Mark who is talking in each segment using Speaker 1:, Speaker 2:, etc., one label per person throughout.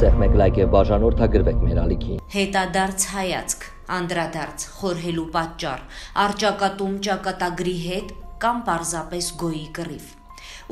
Speaker 1: Դրսեղ մեկ լայք եւ բաժանորդագրվեք մեր ալիքին։
Speaker 2: Հետադարձ հայացք, անդրադարձ, խորհելու պատճառ, առճակատում ճակատագրի հետ կամ պարզապես գոյի կռիվ։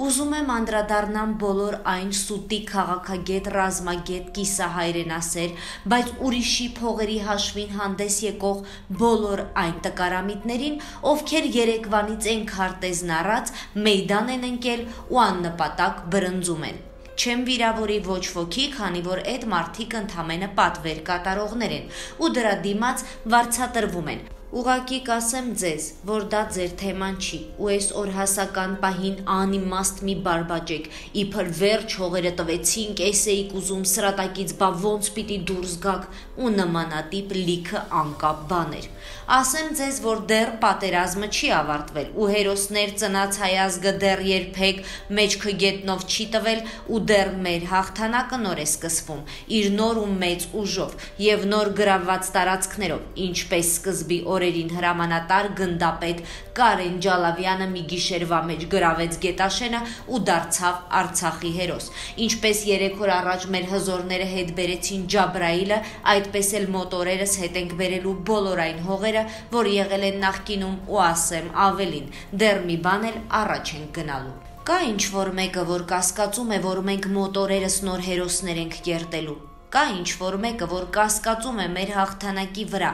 Speaker 2: Ուզում եմ անդրադառնամ բոլոր այն սուտի քաղաքագետ, ռազմագետ, կիսահայրենասեր, բայց ուրիշի փողերի հաշվին հանդես եկող բոլոր այն տկարամիտներին, ովքեր երեկվանից են քարտեզն առած, մեյդան են ընկել ու աննպատակ բրնձում են։ Չեմ վիրավորի ոչ ոքի, քանի որ այդ մարդիկ ընդամենը պատվեր կատարողներ են ու դրա դիմաց վարձատրվում են։ Ուղղակի կասեմ ձեզ, որ դա ձեր թեման չի, ու այս օրհասական պահին անիմաստ մի բարբաջեք, իբր վերջ հողերը տվեցինք, էս էիք ուզում սրատակից, բա ոնց պիտի դուրս գաք ու նմանատիպ լիքը անկապ բաներ։ Ասեմ ձեզ, որ դեռ պատերազմը չի ավարտվել ու հերոսներ ծնած հայ ազգը դեռ երբեք մեջքը գետնով չի տվել ու դեռ մեր հաղթանակը նոր է սկսվում, իր նոր ու մեծ ուժով եւ նոր գրավված տարածքներով, ինչպես սկզբի օրերին հրամանատար գնդապետ Կարեն Ջալավյանը մի գիշերվա մեջ գրավեց Գետաշենը ու դարձավ Արցախի հերոս, ինչպես 3 օր առաջ մեր հզորները հետ բերեցին Ջաբրայիլը, այդպես էլ մոտորերս հետ ենք բերելու բոլոր այն հողերը, որ եղել են նախկինում ու ասեմ ավելին, դեռ մի բան էլ առաջ ենք գնալու։ Կա ինչ-որ մեկը, որ կասկածում է, որ մենք մոտորերս նոր հերոսներ ենք կերտելու։ Կա ինչ-որ մեկը, որ կասկածում է մեր հաղթանակի վրա,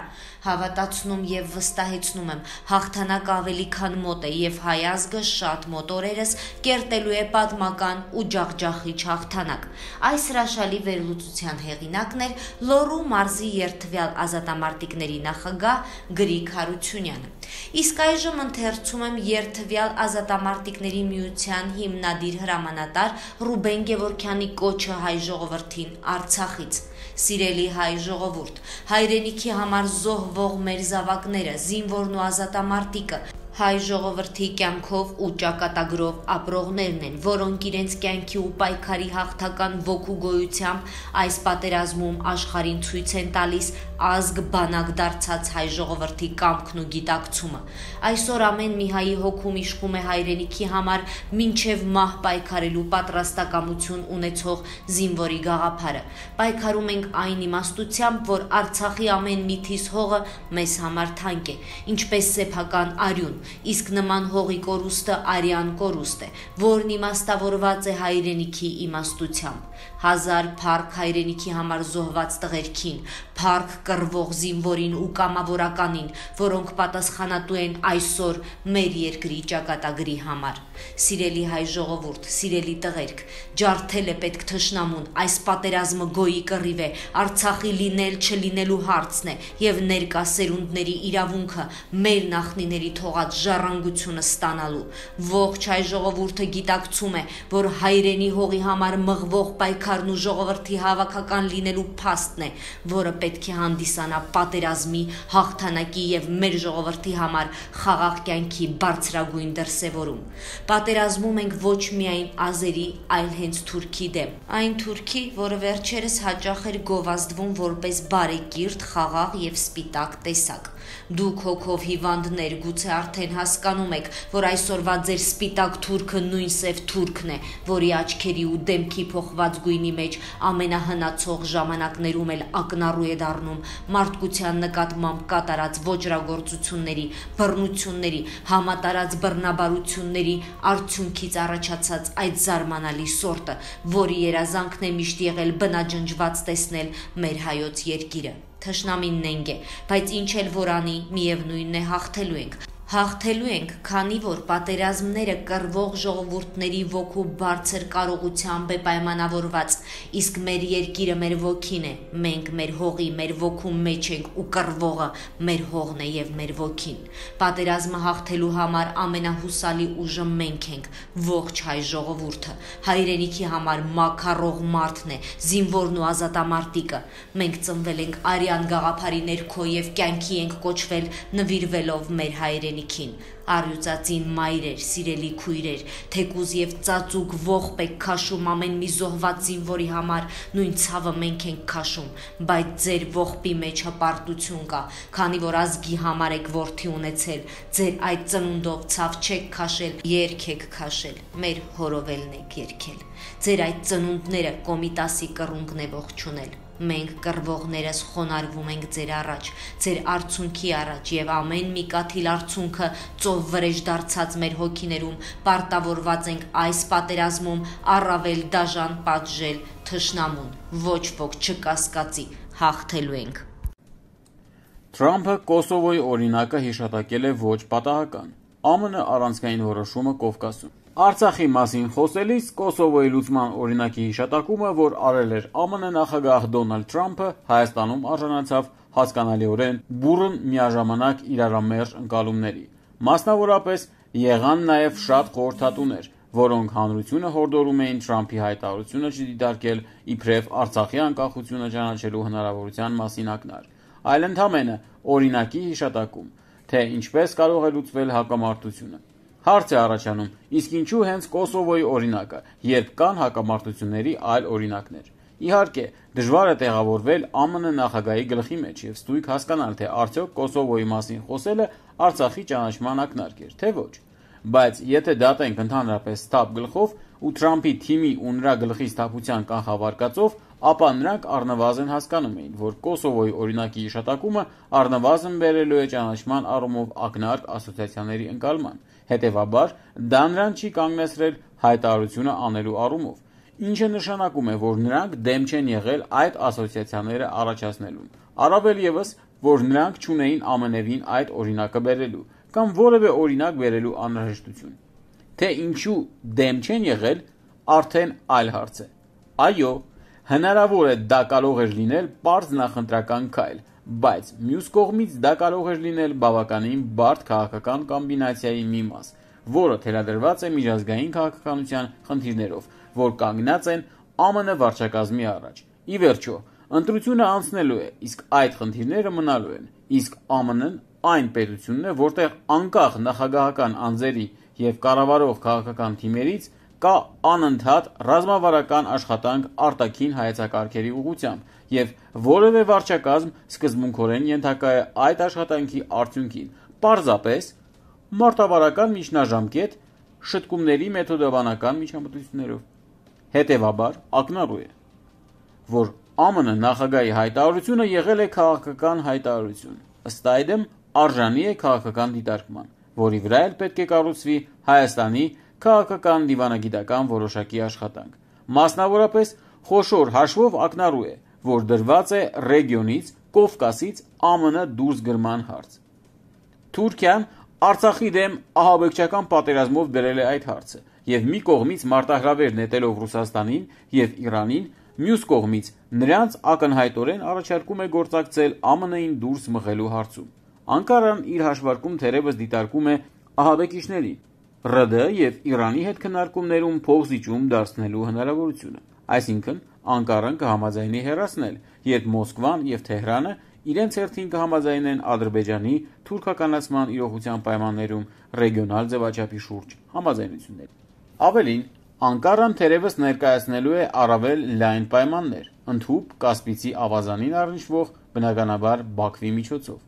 Speaker 2: հավատացնում եւ վստահեցնում եմ, հաղթանակը ավելի քան մոտ է եւ հայ ազգը շատ մոտորերս կերտելու է պատմական ու ջախջախիչ հաղթանակ։ Այս հրաշալի վերլուծության հեղինակն էր Լոռու մարզի երթվյալ ազատամարտիկների նախագահ Գրիգ Հարությունյանը։ Իսկ այժմ ընթերցում եմ երթվյալ ազատամարտիկների միության հիմնադիր հրամանատար Ռուբեն Գևորգյանի կոչը հայ ժողովրդին Արցախից։ Սիրելի հայ ժողովուրդ, հայրենիքի համար զոհվող մեր զավակները, զինվորն ու ազատամարտիկը, հայ ժողովրդի կյանքով ու ճակատագրով ապրողներն են, որոնք իրենց կյանքի ու պայքարի հաղթական ոգու գոյությամբ այս պատերազմում աշխարհին ցույց են տալիս ազգ բանակ դարձած հայ ժողովրդի կամքն ու գիտակցումը։ Այսօր ամեն մի հայի հոգում իշխում է հայրենիքի համար մինչև մահ պայքարելու պատրաստակամություն ունեցող զինվորի գաղափարը։ Պայքարում ենք այն իմաստությամբ, որ Արցախի ամեն մի թիզ հողը մեզ համար թանկ է, ինչպես սեփական արյուն, իսկ նման հողի կորուստը արյան կորուստ է, որն իմաստավորված է հայրենիքի իմաստությամբ։ 1000 փառք հայրենիքի համար զոհված տղերքին, փառք կռվող զինվորին ու կամավորականին, որոնք պատասխանատու են այսօր մեր երկրի ճակատագրի համար։ Սիրելի հայ ժողովուրդ, սիրելի տղերք, ջարդել է պետք թշնամուն, այս պատերազմը գոյի կռիվ է, Արցախի լինել չլինելու հարցն է եւ ներկա սերունդների իրավունքը մեր նախնիների թողած ժառանգությունը ստանալու։ Ողջ հայ ժողովուրդը գիտակցում է, որ հայրենի հողի համար մղվող պայքարն ու ժողովրդի հավաքական լինելու փաստն է, որը պետք է հանդիսանա պատերազմի, հաղթանակի եւ մեր ժողովրդի համար խաղաղ կյանքի բարձրագույն դրսեւորում։ Պատերազմում ենք ոչ միայն ազերի, այլ հենց թուրքի դեմ։ Այն թուրքի, որը վերջերս հաճախ էր գովազդվում որպես բարեկիրթ, խաղաղ եւ սպիտակ տեսակ։ Դուք հոգով հիվանդներ գուցե արդեն հասկանում եք, որ այսօրվա ձեր սպիտակ թուրքը նույն սև թուրքն է, որի աչքերի ու դեմքի փոխված գույնի մեջ ամենահնացող ժամանակներում էլ ակնառու է դառնում մարդկության նկատմամբ կատարած ոճրագործությունների, բռնությունների, համատարած բռնաբարությունների արդյունքից առաջացած այդ զարմանալի սորտը, որի երազանքն է միշտ եղել բնաջնջված տեսնել մեր հայոց երկիրը։ Թշնամին նենգ է, բայց ինչ էլ որ անի, միևնույնն է հաղթելու ենք։ Հաղթելու ենք, քանի որ պատերազմները կռվող ժողովուրդների ոգու բարձր կարողությամբ է պայմանավորված, իսկ մեր երկիրը մեր ոգին է, մենք մեր հողի, մեր ոգու մեջ ենք ու կռվողը մեր հողն է եւ մեր ոգին։ Պատերազմը հաղթելու համար ամենահուսալի ուժը մենք ենք, ողջ հայ ժողովուրդը, հայրենիքի համար մաքարող մարդն է, զինվորն ու ազատամարտիկը։ Մենք ծնվել ենք արյան գաղափարի ներքո եւ կյանքի ենք կոչվել նվիրվելով մեր հայրենի հայրենիքին։ Առյուծածին մայրեր, սիրելի քույրեր, թեկուզ եւ ծածուկ ողբ եք քաշում ամեն մի զոհված զինվորի համար, նույն ցավը մենք ենք քաշում, բայց ձեր ողբի մեջ հպարտություն կա, քանի որ ազգի համար եք որդի ունեցել, ձեր այդ ծնունդով ցավ չեք քաշել, երգ եք քաշել, մեր հորովելն եք երգել։ Ձեր այդ ծնունդները Կոմիտասի կռունգն է ողջունել։ Մենք կռվողներս խոնարհվում ենք ձեր առաջ, ձեր արցունքի առաջ եւ ամեն մի կաթիլ արցունքը ծով վրեժ դարձած մեր հոգիներում պարտավորված ենք այս պատերազմում առավել դաժան պատժել թշնամուն, ոչ ոք չկասկածի, հաղթելու ենք։
Speaker 3: Թրամփը Կոսովոյի օրինակը հիշատակել է ոչ պատահական։ ԱՄՆ առանցքային որոշումը Կովկասում։ Արցախի մասին խոսելիս Կոսովոյի լուծման օրինակի հիշատակումը, որ արել էր ԱՄՆ նախագահ Դոնալդ Թրամփը, Հայաստանում արժանացավ հասկանալիորեն բուռն միաժամանակ իրարամերժ ընկալումների։ Մասնավորապես եղան նաև շատ խորհրդատուներ, որոնք հանրությունը հորդորում էին Թրամփի հայտարարությունը չդիտարկել իբրև Արցախի անկախությունը ճանաչելու հնարավորության մասին ակնարկ, այլ ընդամենը օրինակի հիշատակում, թե ինչպես կարող է լուծվել հակամարտությունը։ Հարց է առաջանում, իսկ ինչու հենց Կոսովոյի օրինակը, երբ կան հակամարտությունների այլ օրինակներ։ Իհարկե, դժվար է տեղավորվել ԱՄՆ նախագահի գլխի մեջ եւ ստույգ հասկանալ, թե արդյոք Կոսովոյի մասին խոսելը Արցախի ճանաչման ակնարկ էր, թե ոչ։ Բայց եթե դատենք ընդհանրապես սթափ գլխով ու Թրամփի թիմի ու նրա գլխի սթափության կանխավարկածով, ապա նրանք առնվազն հասկանում էին, որ Կոսովոյի օրինակի հիշատակումը առնվազն բերելու է ճանաչման առումով ակնարկ ասոցիացիաների ընկալման։ Հետևաբար, դա նրան չի կանգնեցրել հայտարարությունը անելու առումով, ինչը նշանակում է, որ նրանք դեմ չեն եղել այդ ասոցիացիաները առաջացնելուն։ Առավել ևս, որ նրանք չունեին ամենևին այդ օրինակը բերելու կամ որևէ օրինակ բերելու անհրաժեշտություն։ Թե ինչու դեմ չեն եղել, արդեն այլ հարց է։ Այո, հնարավոր է դա կարող էր լինել պարզ նախընտրական քայլ, բայց մյուս կողմից դա կարող էր լինել բավականին բարդ քաղաքական կոմբինացիայի մի մաս, որը թելադրված է միջազգային քաղաքականության խնդիրներով, որ կանգնած են ԱՄՆ վարչակազմի առաջ։ Ի վերջո, ընտրությունը անցնելու է, իսկ այդ խնդիրները մնալու են, իսկ ԱՄՆ-ն այն պետությունն է, որտեղ անկախ նախագահական անձերի եւ կառավարող քաղաքական թիմերից կա անընդհատ ռազմավարական աշխատանք արտաքին հայեցակարգերի ուղղությամբ եւ որևէ վարչակազմ սկզբունքորեն ենթակա է այդ աշխատանքի արդյունքին, պարզապես մարտավարական միջնաժամկետ շտկումների մեթոդաբանական միջամտություններով։ Հետևաբար, ակնառու է, որ ԱՄՆ նախագահի հայտարարությունը եղել է քաղաքական հայտարարություն, ըստ այդմ արժանի է քաղաքական դիտարկման, որի վրա էլ պետք է կառուցվի Հայաստանի քաղաքական դիվանագիտական որոշակի աշխատանք։ Մասնավորապես, խոշոր հաշվով ակնառու է, որ դրված է ռեգիոնից, Կովկասից ԱՄՆ դուրս գրման հարց։ Թուրքիան Արցախի դեմ ահաբեկչական պատերազմով դրել է այդ հարցը եւ մի կողմից մարտահրավեր նետելով Ռուսաստանին եւ Իրանին, մյուս կողմից նրանց ակնհայտորեն առաջարկում է գործակցել ԱՄՆ-ին դուրս մղելու հարցում։ Անկարան իր հաշվարկում թերևս դիտարկում է ահաբեկիչների ՌԴ եւ Իրանի հետ քննարկումներում փոխզիջում դարձնելու հնարավորությունը։ Այսինքն, Անկարան կհամաձայնի հեռացնել, երբ Մոսկվան եւ Թեհրանը իրենց հերթին կհամաձայնեն Ադրբեջանի թուրքականացման իրողության պայմաններում ռեգիոնալ ձևաչափի շուրջ համաձայնություններ։ Ավելին, Անկարան թերևս ներկայացնելու է առավել լայն պայմաններ, ընդհուպ Կասպիցի ավազանին առնչվող բնականաբար Բաքվի միջոցով։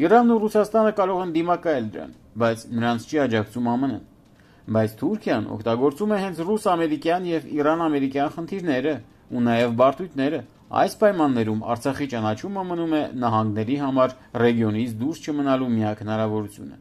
Speaker 3: Իրանն ու Ռուսաստանը կարող են դիմակայել դրան, բայց նրանց չի աջակցում ԱՄՆ-ն։ Բայց Թուրքիան օգտագործում է հենց ռուս-ամերիկյան եւ իրան-ամերիկյան խնդիրները ու նաեւ բարդույթները։ Այս պայմաններում Արցախի ճանաչումը մնում է նահանգների համար ռեգիոնից դուրս չմնալու միակ հնարավորությունը։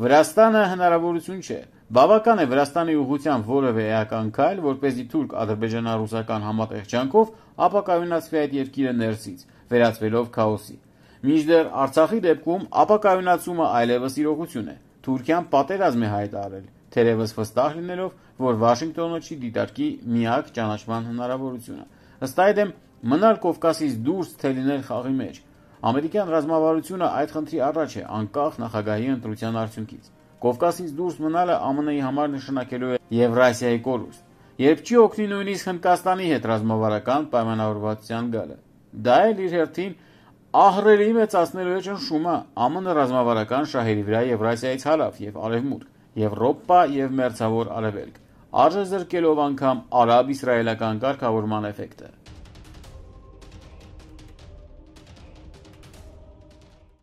Speaker 3: Վրաստանը հնարավորություն չէ։ Բավական է Վրաստանի ուղղությամբ որևէ էական քայլ, որպեսզի թուրք-ադրբեջանա-ռուսական համատեղ ջանքով ապակայունացվի այդ երկիրը ներսից, վերածվելով քաոսի։ Մինչդեռ Արցախի դեպքում ապակայունացումը այլևս իրողություն է։ Թուրքիան պատերազմ է հայտարարել, թերևս վստահ լինելով, որ Վաշինգտոնը չի դիտարկի միակ ճանաչման հնարավորությունը։ Ըստ այդմ, մնալ Կովկասից դուրս թե լինել խաղի մեջ։ Ամերիկյան ռազմավարությունը այդ խնդրի առաջ է, անկախ նախագահի ընտրության արդյունքից։ Կովկասից դուրս մնալը ԱՄՆ-ի համար նշանակելու է Եվրասիայի կորուստ, երբ չի օգնի նույնիսկ Հնդկաստանի հետ ռազմավարական պայմանավորվածության գալը։ Դա էլ իր հերթին Ահռելի մեծացնելու է ճնշումը ԱՄՆ ռազմավարական շահերի վրա Եվրասիայից հարավ եւ արևմուտք, Եվրոպա եւ մերձավոր արևելք, արժեզրկելով անգամ արաբ-իսրայելական կարգավորման էֆեկտը։